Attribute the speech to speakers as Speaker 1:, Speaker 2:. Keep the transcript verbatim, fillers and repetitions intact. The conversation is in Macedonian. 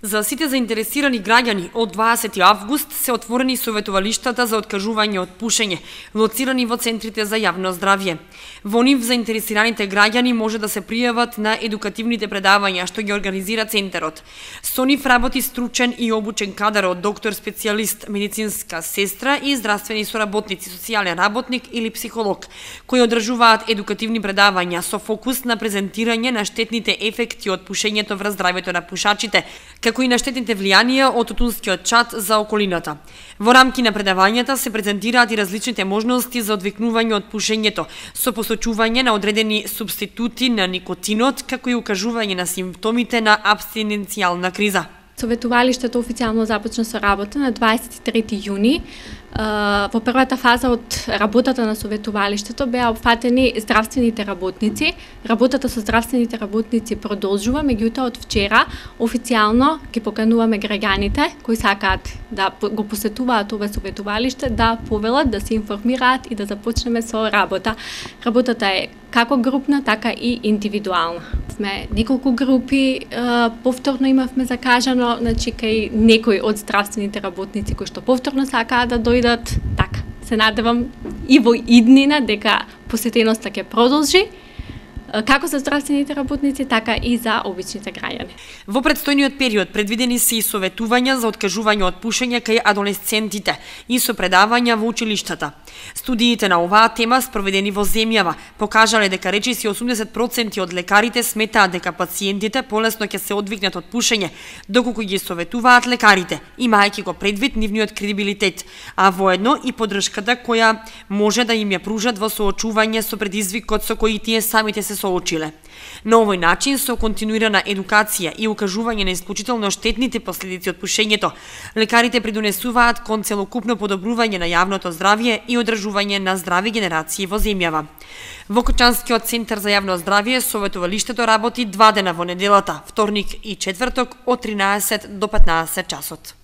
Speaker 1: За сите заинтересирани граѓани од дваесети август се отворени советувалиштата за откажување од пушење, лоцирани во центрите за јавно здравје. Во нив заинтересираните граѓани може да се пријават на едукативните предавања што ги организира центарот. Со нив работи стручен и обучен кадар од доктор специјалист, медицинска сестра и здравствени соработници, социјален работник или психолог, кои одржуваат едукативни предавања со фокус на презентирање на штетните ефекти од пушењето врз здравјето на пушачите, како и на штетните влијанија од тутунскиот чад за околината. Во рамки на предавањата се презентираат и различните можности за одвикнување од пушењето, со посочување на одредени субститути на никотинот, како и укажување на симптомите на апстиненцијална криза.
Speaker 2: Советувалиштето официјално започна со работа на дваесет и трети јуни. Во првата фаза од работата на советувалиштето беа опфатени здравствените работници. Работата со здравствените работници продолжува, меѓутоа од вчера официјално ги покануваме граѓаните кои сакаат да го посетуваат ова советувалиште да повелат, да се информираат и да започнеме со работа. Работата е како групна, така и индивидуална. Сме неколку групи, повторно имавме закажано, значи кај некои од здравствените работници кои што повторно сакаат да дојдат, така, се надевам и во иднина дека посетеноста ќе продолжи, како за здравствените работници, така и за обичните граѓани.
Speaker 1: Во предстојниот период предвидени се и советувања за откажување од пушење кај адолесцентите и со предавања во училиштата. Студиите на оваа тема спроведени во земјава покажале дека речиси осумдесет проценти од лекарите сметаат дека пациентите полесно ќе се одвикнат од пушење, доколку ги советуваат лекарите, имајќи го предвид нивниот кредибилитет, а воедно и поддршката која може да им ја пружат во соочување со предизвикот со кој тие самите се соочиле. На овој начин, со континуирана едукација и укажување на исклучително штетните последици од пушењето, лекарите придонесуваат кон целокупно подобрување на јавното здравје и одржување на здрави генерации во земјава. Во Кочанскиот центар за јавно здравје советувалиштето работи два дена во неделата, вторник и четврток од тринаесет до петнаесет часот.